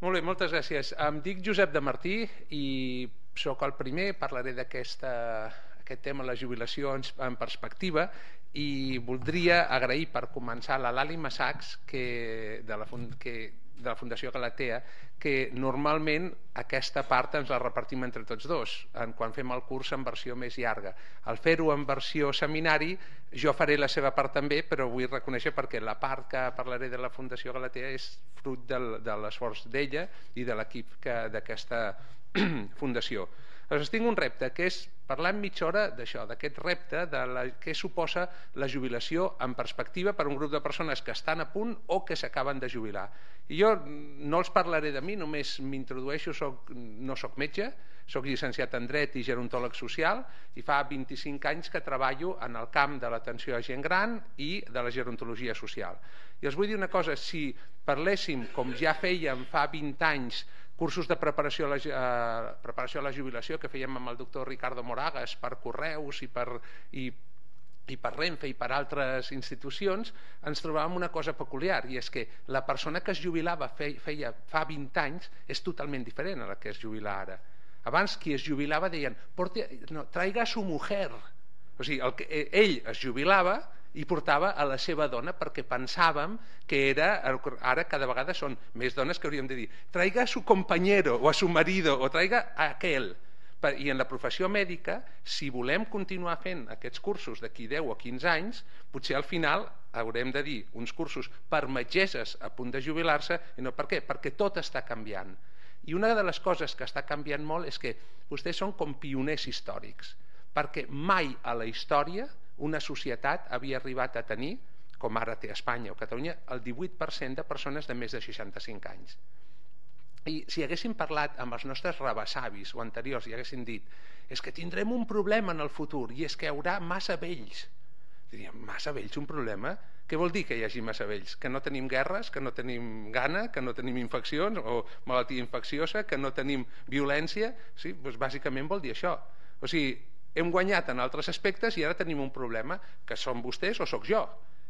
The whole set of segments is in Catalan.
Molt bé, moltes gràcies. Em dic Josep de Martí i sóc el primer, parlaré d'aquest tema, la jubilació en perspectiva, i voldria agrair per començar a la Lali Massacs de la Fundació Galatea, que normalment aquesta part ens la repartim entre tots dos quan fem el curs en versió més llarga. Al fer-ho en versió seminari jo faré la seva part també, però vull reconèixer perquè la part que parlaré de la Fundació Galatea és fruit de l'esforç d'ella i de l'equip d'aquesta fundació. Aleshores tinc un repte, que és parlar en mitja hora d'això, d'aquest repte de què suposa la jubilació en perspectiva per a un grup de persones que estan a punt o que s'acaben de jubilar. I jo no els parlaré de mi, només m'introdueixo, no soc metge, soc llicenciat en Dret i gerontòleg social i fa 25 anys que treballo en el camp de l'atenció a gent gran i de la gerontologia social. I els vull dir una cosa, si parléssim, com ja fèiem fa 20 anys, cursos de preparació a la jubilació que fèiem amb el doctor Ricardo Moragas per correus i per Renfe i per altres institucions, ens trobàvem una cosa peculiar, i és que la persona que es jubilava fa 20 anys és totalment diferent a la que es jubila ara. Abans qui es jubilava deien traiga a su mujer, o sigui, ell es jubilava i portava a la seva dona, perquè pensàvem que ara cada vegada són més dones que hauríem de dir traiga a su compañero o a su marido o traiga a aquel. I en la professió mèdica, si volem continuar fent aquests cursos d'aquí 10 o 15 anys, potser al final haurem de dir uns cursos per metgesses a punt de jubilar-se. I no, per què? Perquè tot està canviant. I una de les coses que està canviant molt és que vostès són com pioners històrics, perquè mai a la història una societat havia arribat a tenir, com ara té Espanya o Catalunya, el 18% de persones de més de 65 anys. I si haguéssim parlat amb els nostres rebessavis o anteriors i haguéssim dit és que tindrem un problema en el futur i és que hi haurà massa vells, diríem, massa vells, un problema? Què vol dir que hi hagi massa vells? Que no tenim guerres, que no tenim gana, que no tenim infeccions o malaltia infecciosa, que no tenim violència? Sí, doncs bàsicament vol dir això. O sigui, hem guanyat en altres aspectes i ara tenim un problema, que són vostès o sóc jo,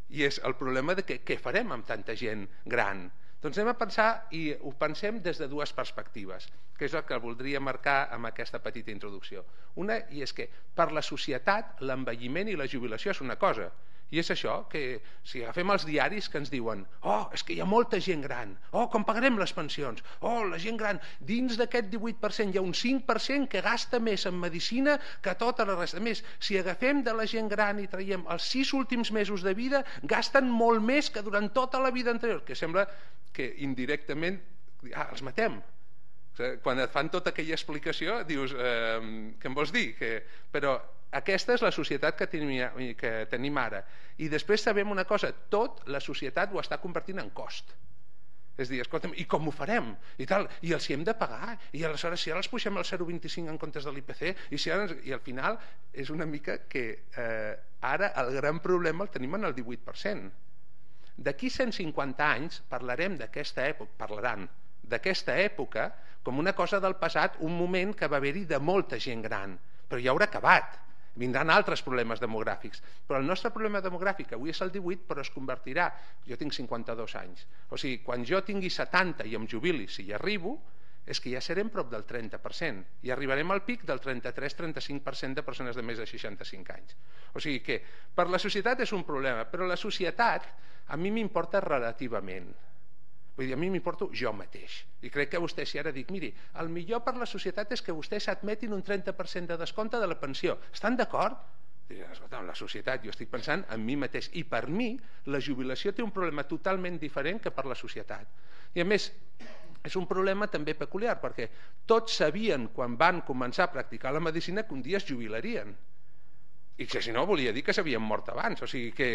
i és el problema de què farem amb tanta gent gran. Doncs anem a pensar, i ho pensem des de dues perspectives, que és el que voldria marcar amb aquesta petita introducció. Una, i és que per la societat l'envelliment i la jubilació és una cosa, i és això, que si agafem els diaris que ens diuen és que hi ha molta gent gran, com pagarem les pensions, la gent gran, dins d'aquest 18% hi ha un 5% que gasta més en medicina que tota la resta. A més, si agafem de la gent gran i traiem els 6 últims mesos de vida, gasten molt més que durant tota la vida anterior, que sembla que indirectament els matem. Quan et fan tota aquella explicació dius, què em vols dir? Però aquesta és la societat que tenim ara. I després sabem una cosa, tot la societat ho està convertint en cost. És a dir, escolta'm, i com ho farem? I els hi hem de pagar, i aleshores si ara els pugem al 0,25 en comptes de l'IPC, i al final és una mica que ara el gran problema el tenim en el 18%. D'aquí 150 anys parlaran d'aquesta època com una cosa del passat, un moment que va haver-hi de molta gent gran, però ja haurà acabat. Vindran altres problemes demogràfics, però el nostre problema demogràfic avui és el 18, però es convertirà, jo tinc 52 anys, o sigui, quan jo tingui 70 i em jubili, si hi arribo, és que ja serem prop del 30% i arribarem al pic del 33-35% de persones de més de 65 anys. O sigui que per la societat és un problema, però la societat a mi m'importa relativament. Vull dir, a mi m'importo jo mateix. I crec que vostè, si ara dic, miri, el millor per la societat és que vostès admetin un 30% de descompte de la pensió. Estan d'acord? Escolta, la societat, jo estic pensant en mi mateix. I per mi, la jubilació té un problema totalment diferent que per la societat. I a més, és un problema també peculiar, perquè tots sabien, quan van començar a practicar la medicina, que un dia es jubilarien. I que si no volia dir que s'havien mort abans, o sigui que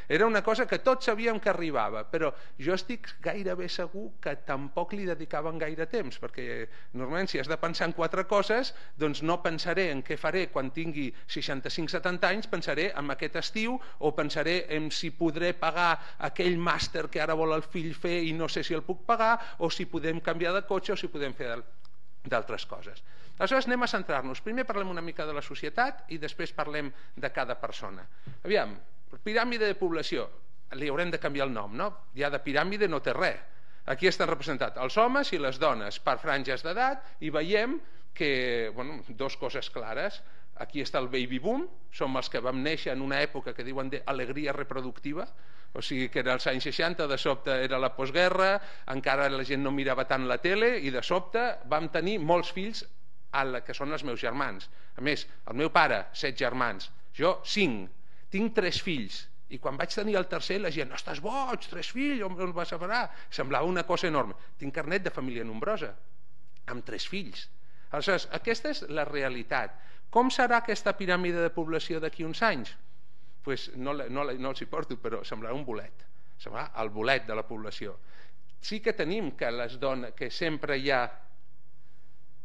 era una cosa que tots sabíem que arribava, però jo estic gairebé segur que tampoc li dedicaven gaire temps, perquè normalment si has de pensar en 4 coses, doncs no pensaré en què faré quan tingui 65-70 anys, pensaré en aquest estiu, o pensaré en si podré pagar aquell màster que ara vol el fill fer i no sé si el puc pagar, o si podem canviar de cotxe, o si podem fer d'altres coses. Aleshores anem a centrar-nos. Primer parlem una mica de la societat i després parlem de cada persona. Aviam, piràmide de població, li haurem de canviar el nom, no? Ja de piràmide no té res. Aquí estan representats els homes i les dones per franges d'edat i veiem que, dues coses clares. Aquí està el baby boom, som els que vam néixer en una època que diuen d'alegria reproductiva, o sigui que era als anys 60, de sobte era la postguerra, encara la gent no mirava tant la tele i de sobte vam tenir molts fills que són els meus germans. A més, el meu pare, 7 germans, jo 5, tinc 3 fills i quan vaig tenir el tercer la gent, no estàs boig, 3 fills, on el vas separar? Semblava una cosa enorme. Tinc carnet de família nombrosa, amb 3 fills. Aleshores, aquesta és la realitat. Com serà aquesta piràmide de població d'aquí uns anys? Pues no els hi porto, però semblarà un bolet. Semblarà el bolet de la població. Sí que tenim que les dones, que sempre hi ha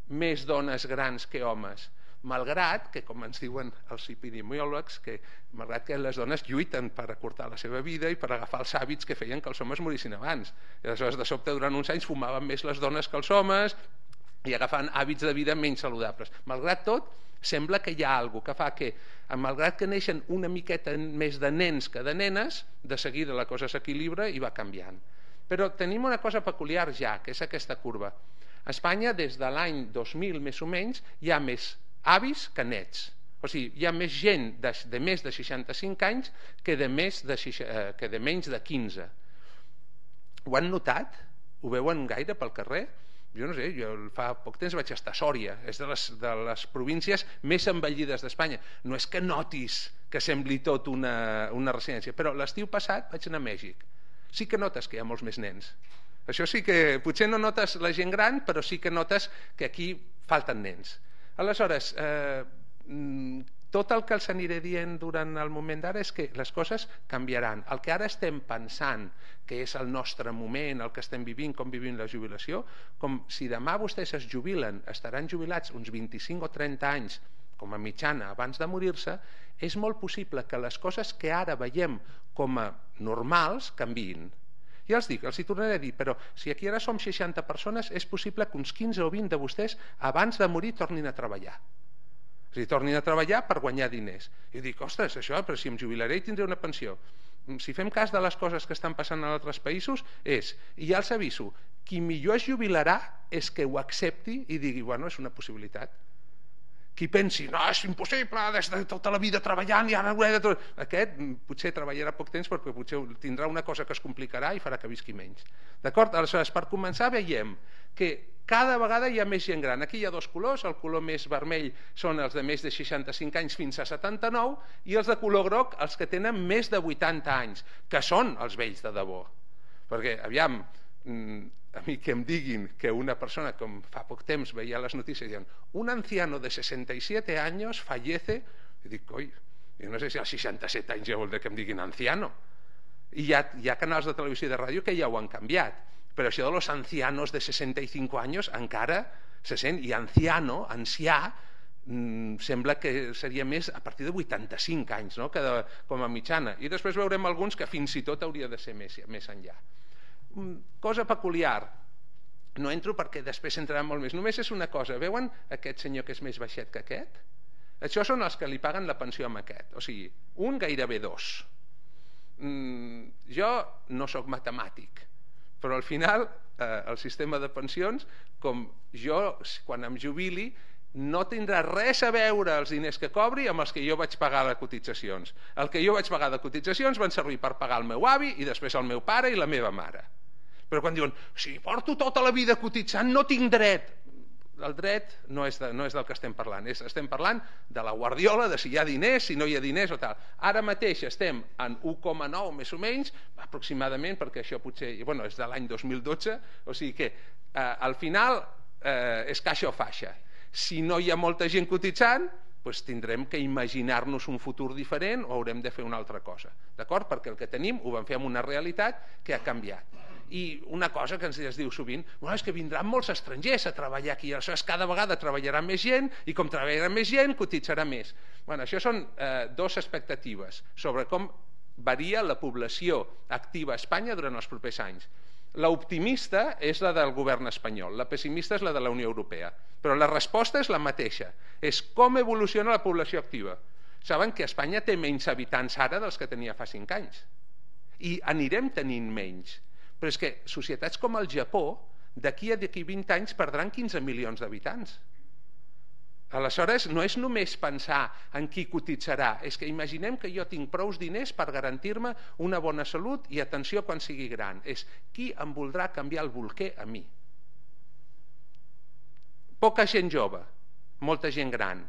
més dones grans que homes, malgrat que, com ens diuen els epidemiòlegs, que malgrat que les dones lluiten per acortar la seva vida i per agafar els hàbits que feien que els homes morissin abans. I aleshores, de sobte, durant uns anys fumaven més les dones que els homes i agafaven hàbits de vida menys saludables. Malgrat tot, sembla que hi ha alguna cosa que fa que, malgrat que neixen una miqueta més de nens que de nenes, de seguida la cosa s'equilibra i va canviant. Però tenim una cosa peculiar ja, que és aquesta curva. A Espanya, des de l'any 2000 més o menys, hi ha més avis que nets. O sigui, hi ha més gent de més de 65 anys que de menys de 15. Ho han notat? Ho veuen gaire pel carrer? Jo no sé, jo fa poc temps vaig estar a Sòria, és de les províncies més envellides d'Espanya. No és que notis que sembli tot una residència, però l'estiu passat vaig anar a Mèxic. Sí que notes que hi ha molts més nens. Això sí que, potser no notes la gent gran, però sí que notes que aquí falten nens. Aleshores, tot el que els aniré dient durant el moment d'ara és que les coses canviaran. El que ara estem pensant que és el nostre moment, el que estem vivint, com vivim la jubilació, com si demà vostès es jubilen, estaran jubilats uns 25 o 30 anys com a mitjana abans de morir-se, és molt possible que les coses que ara veiem com a normals canviïn. Ja els dic, els hi tornaré a dir, però si aquí ara som 60 persones, és possible que uns 15 o 20 de vostès abans de morir tornin a treballar. O sigui, tornin a treballar per guanyar diners. I dic, ostres, això, però si em jubilaré i tindré una pensió. Si fem cas de les coses que estan passant en altres països, i ja els aviso, qui millor es jubilarà és que ho accepti i digui, bueno, és una possibilitat. Qui pensi, no, és impossible, des de tota la vida treballant i ara ho he de tot. Aquest potser treballarà poc temps perquè potser tindrà una cosa que es complicarà i farà que visqui menys. D'acord? Aleshores, per començar, veiem que cada vegada hi ha més gent gran. Aquí hi ha dos colors, el color més vermell són els de més de 65 anys fins a 79 i els de color groc els que tenen més de 80 anys, que són els vells de debò. Perquè, aviam, a mi que em diguin que una persona, com fa poc temps veia les notícies, diuen, un anciano de 67 anys fallece, i dic, coi, jo no sé si als 67 anys ja vol dir que em diguin anciano. I hi ha canals de televisió i de ràdio que ja ho han canviat, però això de los ancianos de 65 anys encara se sent, i anciano, ancià, sembla que seria més a partir de 85 anys, no? Com a mitjana. I després veurem alguns que fins i tot hauria de ser més enllà. Cosa peculiar, no entro perquè després entrarà molt més, només és una cosa, veuen aquest senyor que és més baixet que aquest? Això són els que li paguen la pensió amb aquest, o sigui, un gairebé 2. Jo no sóc matemàtic, però al final el sistema de pensions, com jo quan em jubili, no tindrà res a veure els diners que cobri amb els que jo vaig pagar de cotitzacions. El que jo vaig pagar de cotitzacions van servir per pagar el meu avi i després el meu pare i la meva mare. Però quan diuen, si porto tota la vida cotitzant no tinc dret, el dret no és del que estem parlant, estem parlant de la guardiola, de si hi ha diners, si no hi ha diners o tal. Ara mateix estem en 1,9 més o menys, aproximadament, perquè això potser és de l'any 2012, o sigui que al final és caixa o faixa. Si no hi ha molta gent cotitzant, doncs tindrem que imaginar-nos un futur diferent o haurem de fer una altra cosa, d'acord? Perquè el que tenim ho vam fer amb una realitat que ha canviat. I una cosa que ens diu sovint, és que vindran molts estrangers a treballar aquí, aleshores cada vegada treballarà més gent i com treballarà més gent cotitzarà més. Això són dues expectatives sobre com varia la població activa a Espanya durant els propers anys. L'optimista és la del govern espanyol, la pessimista és la de la Unió Europea, però la resposta és la mateixa, és com evoluciona la població activa. Saben que Espanya té menys habitants ara dels que tenia fa 5 anys i anirem tenint menys, Però és que societats com el Japó, d'aquí a 20 anys perdran 15 milions d'habitants. Aleshores, no és només pensar en qui cotitzarà, és que imaginem que jo tinc prous diners per garantir-me una bona salut i atenció quan sigui gran. És qui em voldrà canviar el bolquer a mi. Poca gent jove, molta gent gran.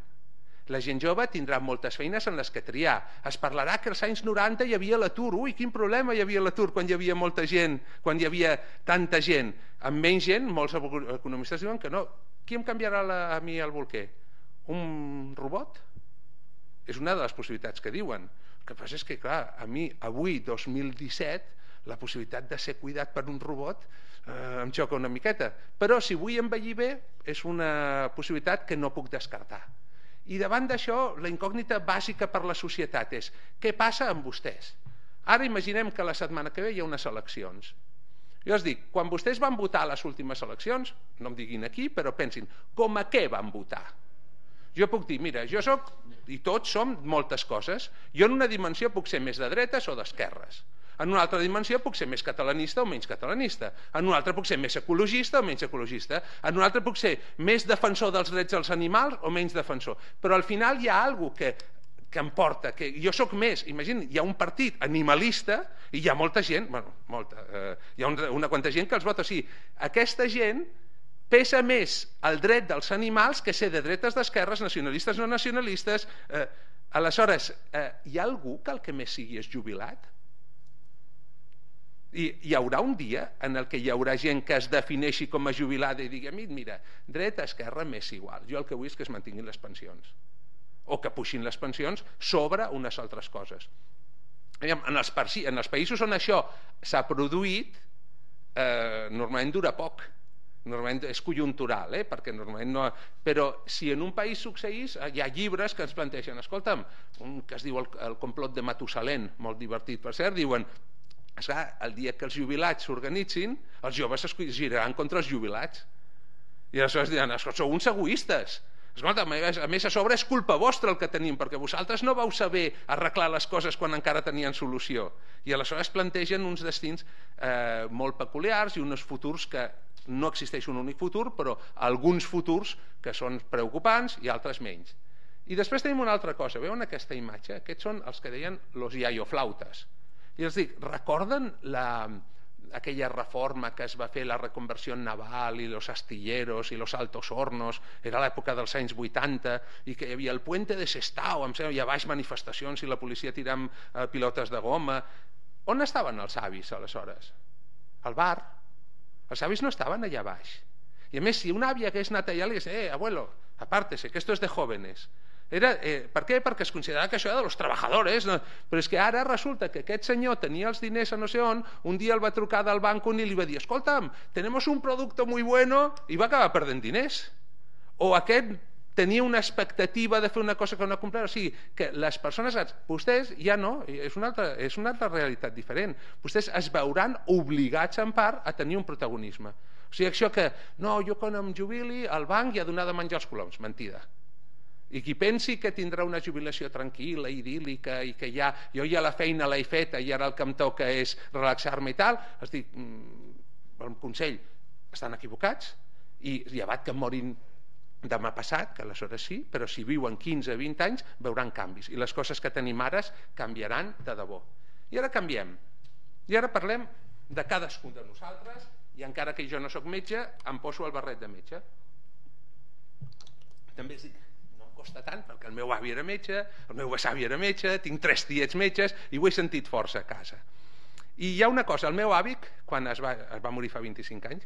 La gent jove tindrà moltes feines en les que triar. Es parlarà que als anys 90 hi havia l'atur. Ui, quin problema hi havia l'atur quan hi havia molta gent, quan hi havia tanta gent. Amb menys gent, molts economistes diuen que no. Qui em canviarà a mi el bolquer? Un robot? És una de les possibilitats que diuen. El que passa és que, clar, a mi, avui, 2017, la possibilitat de ser cuidat per un robot em xoca una miqueta. Però si vull envellir bé, és una possibilitat que no puc descartar. I davant d'això, la incògnita bàsica per la societat és què passa amb vostès? Ara imaginem que la setmana que ve hi ha unes eleccions. Jo us dic, quan vostès van votar a les últimes eleccions, no em diguin aquí, però pensin, com a què van votar? Jo puc dir, mira, jo soc, i tots som moltes coses, jo en una dimensió puc ser més de dretes o d'esquerres, en una altra dimensió puc ser més catalanista o menys catalanista, en una altra puc ser més ecologista o menys ecologista, en una altra puc ser més defensor dels drets dels animals o menys defensor, però al final hi ha alguna cosa que em porta, que jo sóc més, imagina, hi ha un partit animalista i hi ha molta gent, bueno, hi ha una quanta gent que els vota, sí, aquesta gent pesa més el dret dels animals que ser de dretes, d'esquerres, nacionalistes, no nacionalistes. Aleshores, hi ha algú que el que més sigui és jubilat? Hi haurà un dia en el que hi haurà gent que es defineixi com a jubilada i digui, mira, dreta, esquerra, m'és igual. Jo el que vull és que es mantinguin les pensions. O que puixin les pensions sobre unes altres coses. En els països on això s'ha produït, normalment dura poc. Normalment és conjuntural, perquè normalment no... Però si en un país succeís, hi ha llibres que ens plantegen, escolta'm, un que es diu el complot de Matusalén, molt divertit per cert, diuen, el dia que els jubilats s'organitzin, els joves es giraran contra els jubilats. I aleshores diran, sou uns egoistes. Escolta, a més a sobre és culpa vostra el que tenim, perquè vosaltres no vau saber arreglar les coses quan encara tenien solució. I aleshores plantegen uns destins molt peculiars i uns futurs que no existeix un únic futur, però alguns futurs que són preocupants i altres menys. I després tenim una altra cosa, veuen aquesta imatge? Aquests són els que deien los iaioflautes. I els dic, recorden aquella reforma que es va fer, la reconversió naval i los astilleros i los altos hornos, era l'època dels anys 80, i que hi havia el puente de Sestao, i a baix manifestacions i la policia tirant pilotes de goma. On estaven els avis aleshores? Al bar. Els avis no estaven allà baix. I a més, si un avi hagués anat allà, li hagués dit, abuelo, apártese, que esto es de jóvenes. Per què? Perquè es considerava que això era de los trabajadores, no? Però és que ara resulta que aquest senyor tenia els diners a no sé on, un dia el va trucar del banc i li va dir, escolta'm, tenemos un producto muy bueno, i va acabar perdent diners. O aquest tenia una expectativa de fer una cosa que no comprar, o sigui, que les persones, vostès ja no, és una altra realitat diferent, vostès es veuran obligats en part a tenir un protagonisme. O sigui, això que, no, jo quan em jubili al banc hi ha donar de menjar els coloms, mentida. I qui pensi que tindrà una jubilació tranquil·la, idíl·lica, i que jo ja la feina l'he feta i ara el que em toca és relaxar-me i tal, es dic, el consell, estan equivocats, i llevat que morin demà passat, que aleshores sí, però si viuen 15-20 anys veuran canvis, i les coses que tenim ara canviaran de debò. I ara canviem, i ara parlem de cadascun de nosaltres, i encara que jo no sóc metge, em poso el barret de metge. També es dic, costa tant, perquè el meu avi era metge, el meu besavi era metge, tinc 3 tiets metges i ho he sentit força a casa. I hi ha una cosa, el meu avi, quan es va morir fa 25 anys,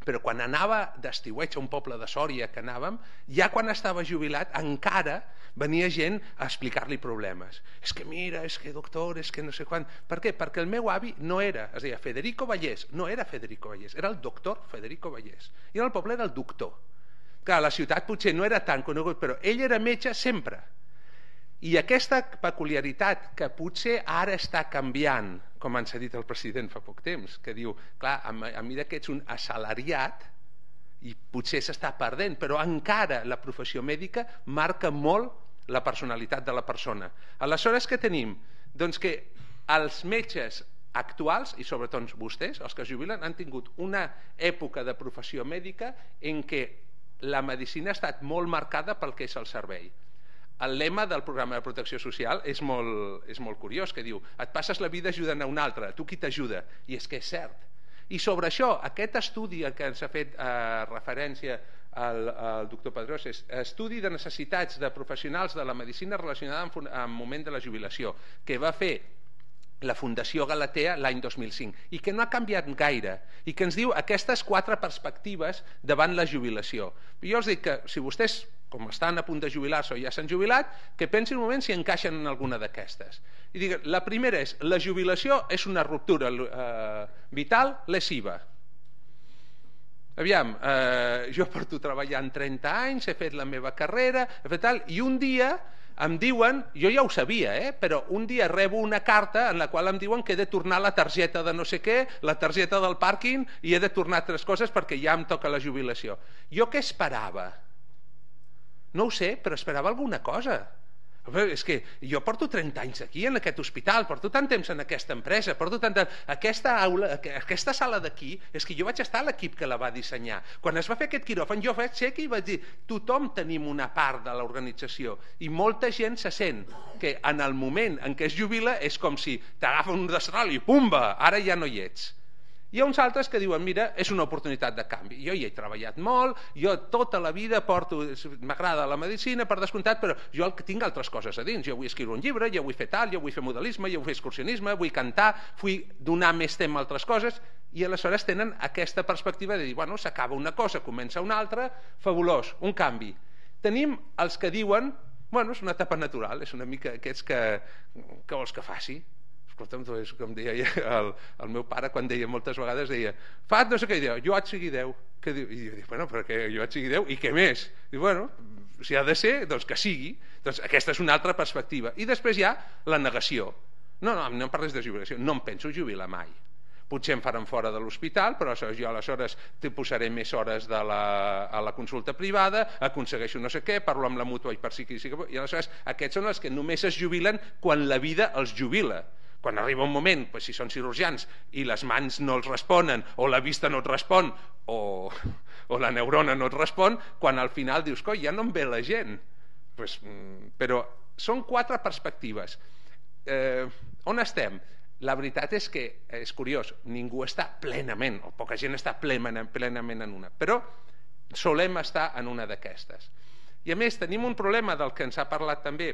però quan anava d'estiueig a un poble de Sòria que anàvem, ja quan estava jubilat encara venia gent a explicar-li problemes. És que mira, és que doctor, és que no sé quan... Per què? Perquè el meu avi no era, es deia Federico Vallès, no era Federico Vallès, era el doctor Federico Vallès. I el poble era el doctor. Clar, la ciutat potser no era tan conegut, però ell era metge sempre. I aquesta peculiaritat que potser ara està canviant, com ens ha dit el president fa poc temps, que diu, clar, a mesura que ets un assalariat, i potser s'està perdent, però encara la professió mèdica marca molt la personalitat de la persona. Aleshores, què tenim? Doncs que els metges actuals, i sobretot vostès, els que es jubilen, han tingut una època de professió mèdica en què la medicina ha estat molt marcada pel que és el servei. El lema del programa de protecció social és molt curiós, que diu: et passes la vida ajudant a un altre, tu qui t'ajuda? I és que és cert. I sobre això, aquest estudi que ens ha fet referència el doctor Pedrós és estudi de necessitats de professionals de la medicina relacionada amb el moment de la jubilació, que va fer la Fundació Galatea l'any 2005 i que no ha canviat gaire i que ens diu aquestes 4 perspectives davant la jubilació. Jo els dic que si vostès, com estan a punt de jubilar-se o ja s'han jubilat, que pensin un moment si encaixen en alguna d'aquestes. I dic, la primera és: la jubilació és una ruptura vital lesiva. Aviam, jo porto treballant 30 anys, he fet la meva carrera, i un dia em diuen, jo ja ho sabia, però un dia rebo una carta en la qual em diuen que he de tornar la targeta de no sé què, la targeta del pàrquing, i he de tornar altres coses perquè ja em toca la jubilació. Jo què esperava? No ho sé, però esperava alguna cosa. És que jo porto 30 anys aquí en aquest hospital, porto tant temps en aquesta empresa, porto tant temps... Aquesta sala d'aquí, és que jo vaig estar a l'equip que la va dissenyar. Quan es va fer aquest quiròfan jo vaig ser aquí i vaig dir: tothom tenim una part de l'organització, i molta gent se sent que en el moment en què es jubila és com si t'agafa un destral i pumba, ara ja no hi ets. Hi ha uns altres que diuen: mira, és una oportunitat de canvi, jo hi he treballat molt, jo tota la vida m'agrada la medicina per descomptat, però jo tinc altres coses a dins, jo vull escriure un llibre, jo vull fer tal, jo vull fer modelisme, jo vull fer excursionisme, vull cantar, vull donar més temps a altres coses, i aleshores tenen aquesta perspectiva de dir: bueno, s'acaba una cosa, comença una altra, fabulós, un canvi. Tenim els que diuen: bueno, és una etapa natural, és una mica aquests que vols que faci. Escolta'm, és com deia el meu pare quan deia moltes vegades, deia: fa no sé què, jo haig seguir 10. I jo dic: bueno, però que jo haig seguir 10 i què més? I bueno, si ha de ser, doncs que sigui. Doncs aquesta és una altra perspectiva. I després hi ha la negació. No em parles de jubilació, no em penso jubilar mai. Potser em faran fora de l'hospital, però jo aleshores te posaré més hores a la consulta privada, aconsegueixo no sé què, parlo amb la mútua i per si i aleshores aquests són els que només es jubilen quan la vida els jubila. Quan arriba un moment, si són cirurgians i les mans no els responen, o la vista no et respon, o la neurona no et respon, quan al final dius: coi, ja no em ve la gent. Però són 4 perspectives. On estem? La veritat és que és curiós, ningú està plenament, o poca gent està plenament en una, però solem estar en una d'aquestes. I a més tenim un problema del que ens ha parlat també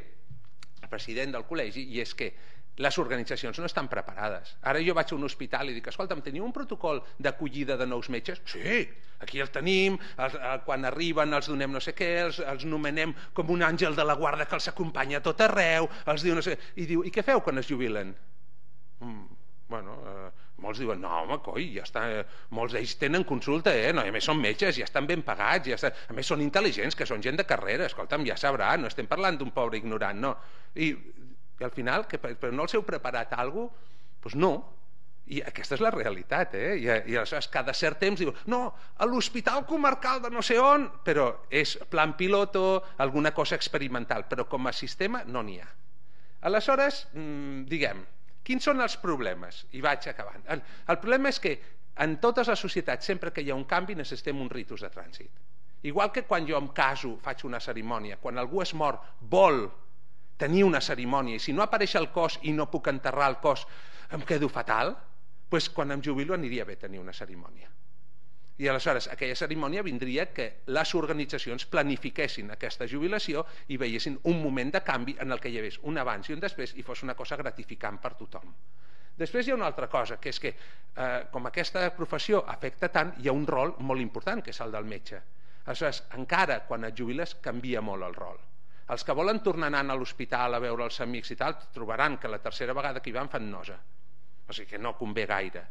el president del col·legi, i és que les organitzacions no estan preparades. Ara jo vaig a un hospital i dic: escolta'm, teniu un protocol d'acollida de nous metges? Sí, aquí el tenim, quan arriben els donem no sé què, els nomenem com un àngel de la guarda que els acompanya a tot arreu, els diu no sé què. I diu: i què feu quan es jubilen? Bueno, molts diuen: no, home, coi, ja està, molts d'ells tenen consulta, no, a més són metges, ja estan ben pagats, a més són intel·ligents, que són gent de carrera, escolta'm, ja sabrà, no estem parlant d'un pobre ignorant, no. I al final, però no els heu preparat alguna cosa? Doncs no, i aquesta és la realitat, i aleshores cada cert temps diu: no, a l'hospital comarcal de no sé on, però és plan piloto, alguna cosa experimental, però com a sistema no n'hi ha. Aleshores, diguem, quins són els problemes? I vaig acabant. El problema és que en totes les societats, sempre que hi ha un canvi, necessitem un ritus de trànsit. Igual que quan jo em caso, faig una cerimònia, quan algú es mor, vol tenir una cerimònia, i si no apareix el cos i no puc enterrar el cos, em quedo fatal, doncs quan em jubilo aniria bé tenir una cerimònia. I aleshores aquella cerimònia vindria que les organitzacions planifiquessin aquesta jubilació i veiessin un moment de canvi en el que hi hagués un abans i un després i fos una cosa gratificant per tothom. Després hi ha una altra cosa, que és que com aquesta professió afecta tant, hi ha un rol molt important, que és el del metge. Aleshores, encara quan et jubiles canvia molt el rol. Els que volen tornar anant a l'hospital a veure els amics i tal, trobaran que la tercera vegada que hi van fan nosa. O sigui que no convé gaire.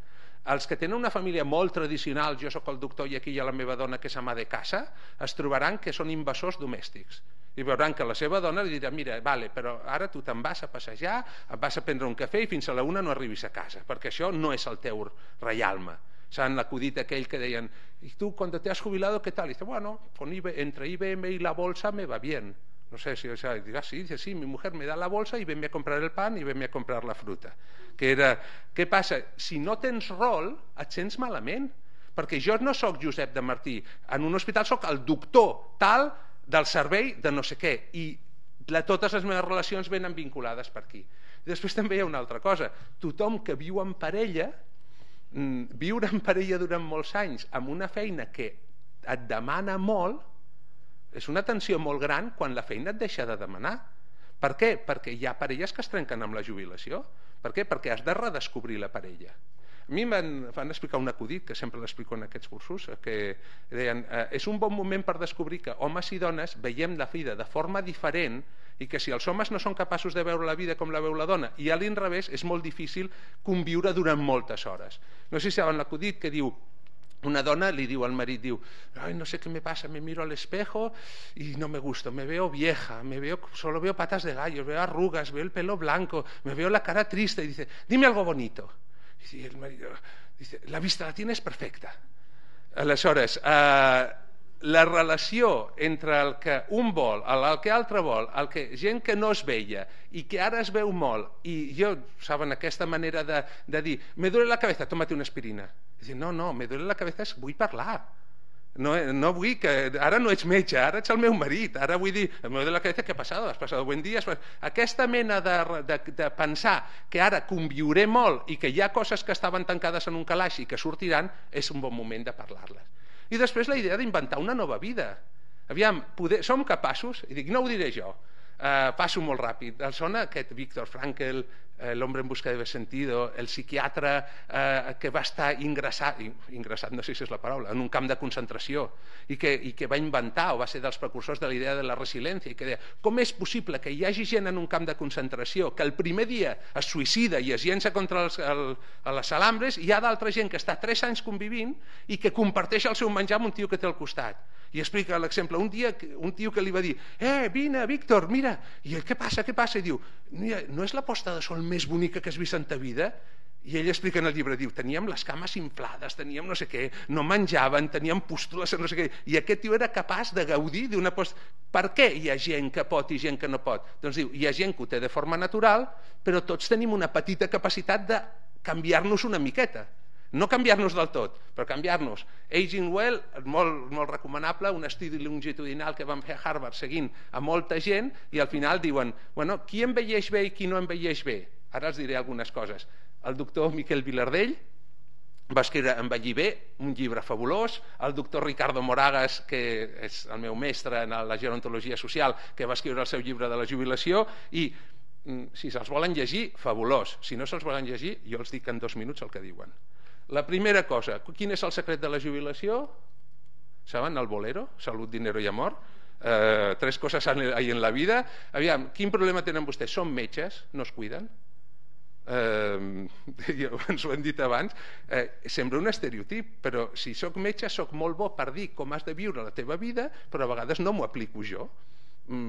Els que tenen una família molt tradicional, jo sóc el doctor i aquí hi ha la meva dona que és ama de casa, es trobaran que són invasors domèstics. I veuran que la seva dona li dirà: mira, vale, però ara tu te'n vas a passejar, et vas a prendre un cafè i fins a la 1 no arribis a casa, perquè això no és el teu reialme. S'han acudit aquell que deien: ¿y tú cuando te has jubilado qué tal? Y dice: bueno, entre IBM y la bolsa me va bien. No sé si dice, sí, dice, sí, mi mujer me da la bolsa y venme a comprar el pan y venme a comprar la fruta. Què passa? Si no tens rol, et sents malament. Perquè jo no sóc Josep de Martí. En un hospital sóc el doctor tal del servei de no sé què. I totes les meves relacions venen vinculades per aquí. I després també hi ha una altra cosa. Tothom que viu en parella, viure en parella durant molts anys amb una feina que et demana molt, és una tensió molt gran quan la feina et deixa de demanar. Per què? Perquè hi ha parelles que es trenquen amb la jubilació. Per què? Perquè has de redescobrir la parella. A mi em van explicar un acudit, que sempre l'explico en aquests cursos, que deien, és un bon moment per descobrir que homes i dones veiem la vida de forma diferent i que si els homes no són capaços de veure la vida com la veu la dona i a l'inrevés és molt difícil conviure durant moltes hores. No sé si saben l'acudit que diu, una dona li diu al marit, diu, ay, no sé qué me pasa, me miro al espejo y no me gusto, me veo vieja, solo veo patas de gallo, veo arrugas, veo el pelo blanco, me veo la cara triste, y dice, dime algo bonito. Y el marido dice, la vista la tienes perfecta. Aleshores, la relació entre el que un vol, el que altre vol, gent que no es veia i que ara es veu molt, i jo, saben, aquesta manera de dir, me duele la cabeza, tómate una aspirina. Dic, no, me duele la cabeza, vull parlar. No vull que... Ara no ets metge, ara ets el meu marit, ara vull dir, me duele la cabeza, què ha passat? Has passat buen dia? Aquesta mena de pensar que ara conviuré molt i que hi ha coses que estaven tancades en un calaix i que sortiran, és un bon moment de parlar-les. I després la idea d'inventar una nova vida. Aviam, som capaços, i dic, no ho diré jo, passo molt ràpid, el sona aquest Viktor Frankl, l'hombre en busca de sentido, el psiquiatre que va estar ingressat, no sé si és la paraula, en un camp de concentració i que va inventar o va ser dels precursors de la idea de la resiliència i que deia, com és possible que hi hagi gent en un camp de concentració que el primer dia es suïcida i es llença contra les alambres i hi ha d'altra gent que està 3 anys convivint i que comparteix el seu menjar amb un tio que té al costat. I explica l'exemple, un dia un tio que li va dir, vine Víctor, mira, i què passa? I diu, no és la posta de sol més bonica que has vist en ta vida? I ell explica en el llibre, diu, teníem les cames inflades, teníem no sé què, no menjaven, teníem pústules, no sé què, i aquest tio era capaç de gaudir d'una posta. Per què hi ha gent que pot i gent que no pot? Doncs diu, hi ha gent que ho té de forma natural, però tots tenim una petita capacitat de canviar-nos una miqueta. No canviar-nos del tot, però canviar-nos. Aging Well, molt recomanable, un estudi longitudinal que van fer a Harvard seguint a molta gent i al final diuen, bueno, qui envelleix bé i qui no envelleix bé? Ara els diré algunes coses. El doctor Miquel Vilardell va escriure Envellir bé, un llibre fabulós. El doctor Ricardo Moragas, que és el meu mestre en la gerontologia social, que va escriure el seu llibre de la jubilació i si se'ls volen llegir, fabulós. Si no se'ls volen llegir, jo els dic en 2 minuts el que diuen. La primera cosa, quin és el secret de la jubilació? Saben, el bolero, salud, dinero i amor. 3 coses hay en la vida. Aviam, quin problema tenen vostès? Són metges, no es cuiden. Ens ho hem dit abans. Sembla un estereotip, però si sóc metge sóc molt bo per dir com has de viure la teva vida, però a vegades no m'ho aplico jo.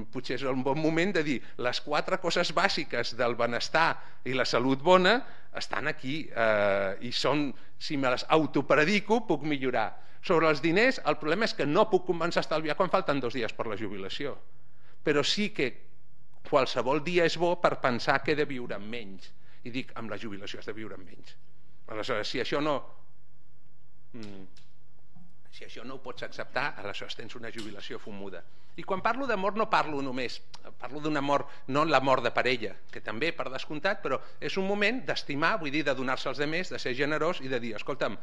Potser és un bon moment de dir les 4 coses bàsiques del benestar i la salut bona estan aquí i són, si me les autopredico puc millorar. Sobre els diners el problema és que no puc començar a estalviar quan falten 2 dies per la jubilació, però sí que qualsevol dia és bo per pensar que he de viure amb menys, i dic, amb la jubilació has de viure amb menys. Aleshores, si això no ho pots acceptar, aleshores tens una jubilació fumuda. I quan parlo d'amor no parlo només, parlo d'un amor, no l'amor de parella, que també per descomptat, però és un moment d'estimar, vull dir, de donar-se als altres, de ser generós i de dir, escolta'm,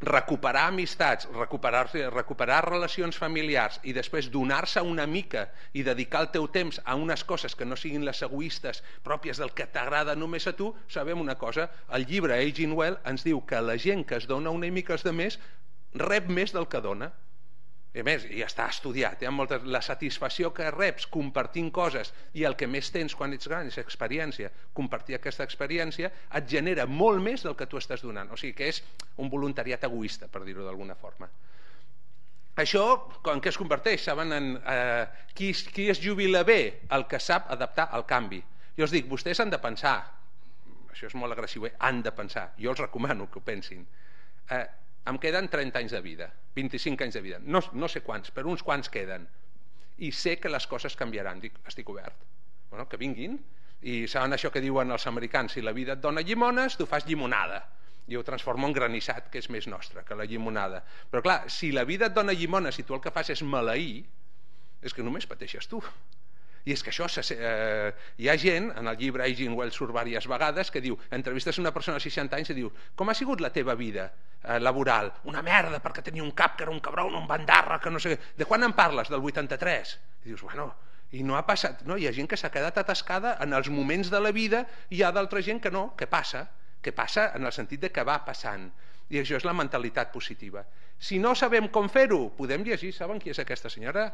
recuperar amistats, recuperar relacions familiars i després donar-se una mica i dedicar el teu temps a unes coses que no siguin les egoistes pròpies del que t'agrada només a tu, sabem una cosa, el llibre Aging Well ens diu que la gent que es dona una mica als altres rep més del que dona. I a més, ja està estudiat, la satisfacció que reps compartint coses i el que més tens quan ets gran és experiència, compartir aquesta experiència et genera molt més del que tu estàs donant, o sigui que és un voluntariat egoista, per dir-ho d'alguna forma. Això, en què es converteix? Saben qui es jubila bé? El que sap adaptar al canvi. Jo us dic, vostès han de pensar, això és molt agressiu, han de pensar, jo els recomano que ho pensin. Em queden 30 anys de vida, 25 anys de vida, no sé quants, però uns quants queden. i sé que les coses canviaran. Dic, estic obert. Bueno, que vinguin. I saben això que diuen els americans, si la vida et dona llimones, tu fas llimonada. I ho transformo en granissat, que és més nostre que la llimonada. Però clar, si la vida et dona llimones i tu el que fas és maleir, és que només pateixes tu. I és que això, hi ha gent, en el llibre Aging Well surt diverses vegades, que diu, entrevistes una persona de 60 anys i diu, com ha sigut la teva vida laboral? Una merda, perquè tenia un cap que era un cabron, un bandarra, que no sé què. De quan en parles? Del 83? I dius, bueno, i no ha passat. No, hi ha gent que s'ha quedat atascada en els moments de la vida i hi ha d'altra gent que no, que passa en el sentit de que va passant. I això és la mentalitat positiva. Si no sabem com fer-ho, podem llegir, saben qui és aquesta senyora?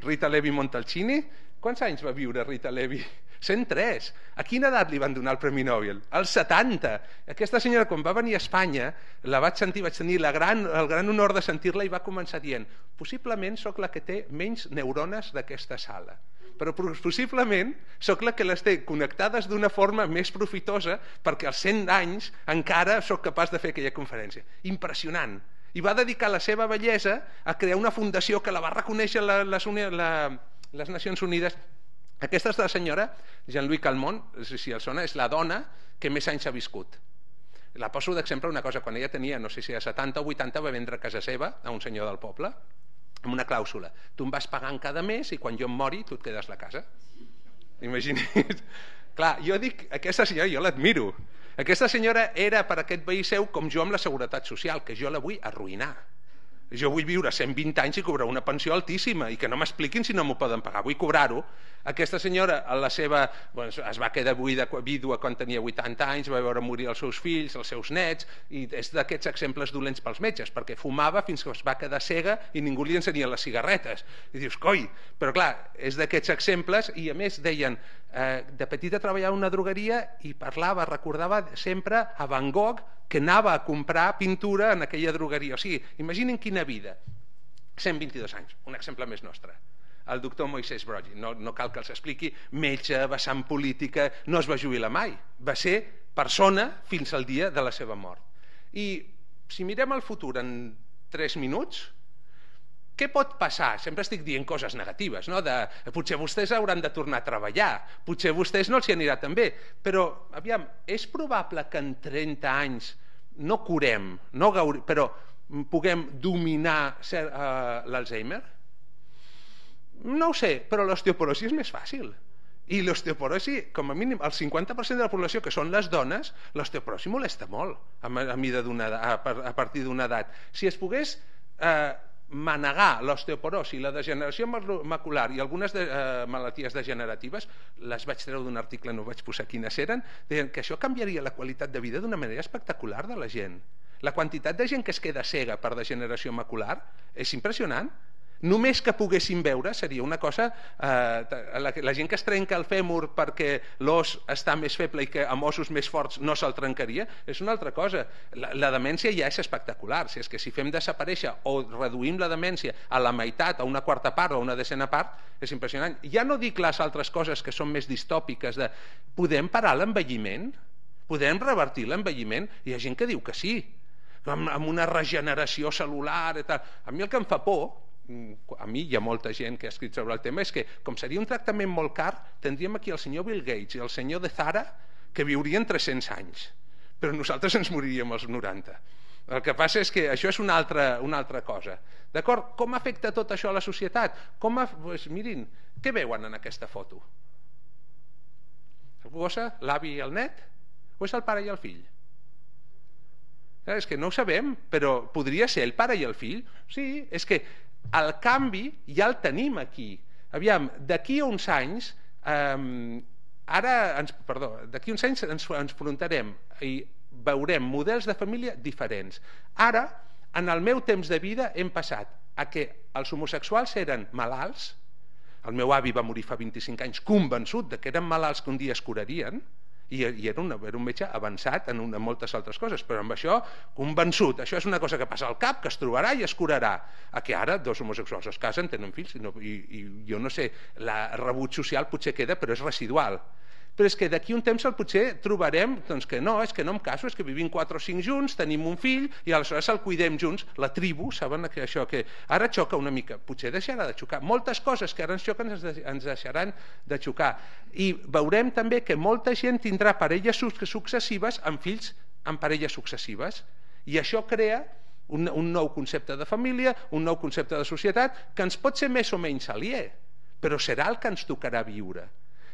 Rita Levi Montalcini. Quants anys va viure Rita Levi? 103. A quina edat li van donar el Premi Nobel? Als 70. Aquesta senyora, quan va venir a Espanya, la vaig sentir, vaig tenir el gran honor de sentir-la i va començar dient, possiblement sóc la que té menys neurones d'aquesta sala, però possiblement sóc la que les té connectades d'una forma més profitosa perquè als 100 anys encara sóc capaç de fer aquella conferència. Impressionant. I va dedicar la seva bellesa a crear una fundació que la va reconèixer les Nacions Unides. Aquesta és la senyora Jean-Louis Calment, si el sona, és la dona que més anys ha viscut. La poso d'exemple una cosa, quan ella tenia, no sé si a 70 o 80, va vendre casa seva a un senyor del poble amb una clàusula. Tu em vas pagant cada mes i quan jo em mori tu et quedes la casa. Imagina't. Clar, jo dic, aquesta senyora jo l'admiro. Aquesta senyora era per aquest veí seu com jo amb la seguretat social, que jo la vull arruïnar. Jo vull viure 120 anys i cobrar una pensió altíssima i que no m'expliquin si no m'ho poden pagar, vull cobrar-ho. Aquesta senyora es va quedar vídua quan tenia 80 anys, va veure morir els seus fills, els seus nets, i és d'aquests exemples dolents pels metges, perquè fumava fins que es va quedar cega i ningú li ensenia les cigarretes. I dius, coi, però clar, és d'aquests exemples. I a més deien, de petita treballava en una drogueria i recordava sempre a Van Gogh, que anava a comprar pintura en aquella drogueria. O sigui, imaginin quina vida. 122 anys, un exemple més nostre. El doctor Moisès Broggi, no cal que els expliqui, metge, vessant política, no es va jubilar mai, va ser persona fins al dia de la seva mort. I si mirem el futur en 3 minuts, què pot passar? Sempre estic dient coses negatives, no? Potser vostès hauran de tornar a treballar, potser vostès no els hi anirà tan bé, però aviam, és probable que en 30 anys no curem, però puguem dominar l'Alzheimer? No ho sé, però l'osteoporosi és més fàcil. I l'osteoporosi, com a mínim, el 50% de la població, que són les dones, l'osteoporosi molesta molt a partir d'una edat. Si es pogués manegar l'osteoporosi, la degeneració macular i algunes malalties degeneratives, les vaig treure d'un article, no vaig posar quines eren, deien que això canviaria la qualitat de vida d'una manera espectacular de la gent. La quantitat de gent que es queda cega per degeneració macular és impressionant. Només que poguessin veure seria una cosa, la gent que es trenca el fèmur perquè l'os està més feble i que amb ossos més forts no se'l trencaria, és una altra cosa. La demència ja és espectacular. Si és que si fem desaparèixer o reduïm la demència a la meitat, a una quarta part o a una desena part, és impressionant. Ja no dic les altres coses que són més distòpiques de podem parar l'envelliment? Podem revertir l'envelliment? Hi ha gent que diu que sí, amb una regeneració cel·lular i tal. A mi el que em fa por, a mi hi ha molta gent que ha escrit sobre el tema, és que com seria un tractament molt car, tindríem aquí el senyor Bill Gates i el senyor de Zara que viurien 300 anys, però nosaltres ens moriríem als 90. El que passa és que això és una altra cosa. D'acord? Com afecta tot això a la societat? Mirin, què veuen en aquesta foto? Algú gossa? L'avi i el net? O és el pare i el fill? És que no ho sabem, però podria ser el pare i el fill? Sí, és que el canvi ja el tenim aquí. Aviam, d'aquí a uns anys d'aquí uns anys ens enfrontarem i veurem models de família diferents. Ara, en el meu temps de vida hem passat a que els homosexuals eren malalts. El meu avi va morir fa 25 anys convençut de que eren malalts que un dia es curarien, i era un metge avançat en moltes altres coses, però amb això convençut. Això és una cosa que passa al cap, que es trobarà i es curarà. A que ara dos homosexuals es casen, tenen fills, i jo no sé, el rebuig social potser queda, però és residual. però és que d'aquí un temps potser trobarem que no, és que no em caso, és que vivim 4 o 5 junts, tenim un fill i aleshores el cuidem junts, la tribu, saben que això que ara xoca una mica, potser deixarà de xocar, moltes coses que ara ens xoquen ens deixaran de xocar, i veurem també que molta gent tindrà parelles successives amb fills amb parelles successives, i això crea un nou concepte de família, un nou concepte de societat que ens pot ser més o menys aliè, però serà el que ens tocarà viure.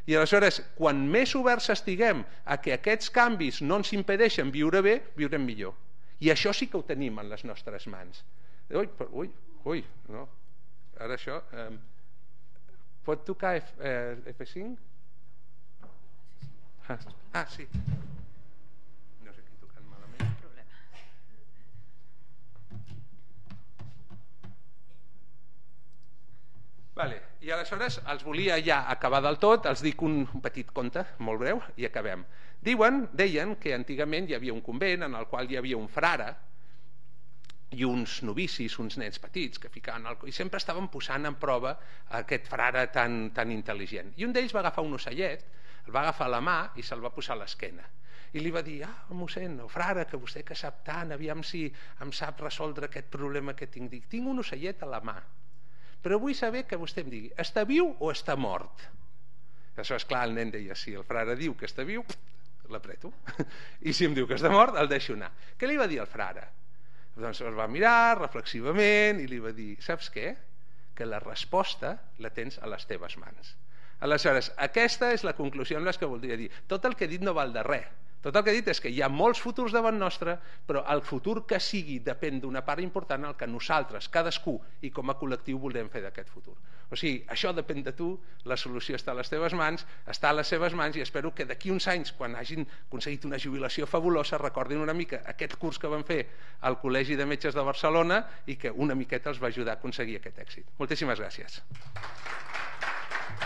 I aleshores, quan més oberts estiguem a que aquests canvis no ens impedeixen viure bé, viurem millor. I això sí que ho tenim en les nostres mans. Ui, no. Ara això... Pot tocar F5? Ah, sí. I aleshores els volia ja acabar del tot, els dic un petit conte, molt breu, i acabem. Deien que antigament hi havia un convent en el qual hi havia un frare i uns novicis, uns nens petits, que ficaven i sempre estaven posant en prova aquest frare tan intel·ligent. I un d'ells va agafar un ocellet, el va agafar a la mà i se'l va posar a l'esquena. I li va dir, mossèn, o frare, que vostè que sap tant, aviam si em sap resoldre aquest problema que tinc. Dic, tinc un ocellet a la mà, però vull saber que vostè em digui, està viu o està mort? Això és clar, el nen deia, si el frare diu que està viu, l'apreto, i si em diu que està mort, el deixo anar. Què li va dir el frare? Doncs el va mirar reflexivament i li va dir, saps què? Que la resposta la tens a les teves mans. Aleshores, aquesta és la conclusió en les que voldria dir. Tot el que he dit no val de res. Tot el que he dit és que hi ha molts futurs davant nostre, però el futur que sigui depèn d'una part important al que nosaltres, cadascú i com a col·lectiu volem fer d'aquest futur. O sigui, això depèn de tu, la solució està a les teves mans, està a les seves mans, i espero que d'aquí uns anys, quan hagin aconseguit una jubilació fabulosa, recordin una mica aquest curs que van fer al Col·legi de Metges de Barcelona i que una miqueta els va ajudar a aconseguir aquest èxit. Moltíssimes gràcies.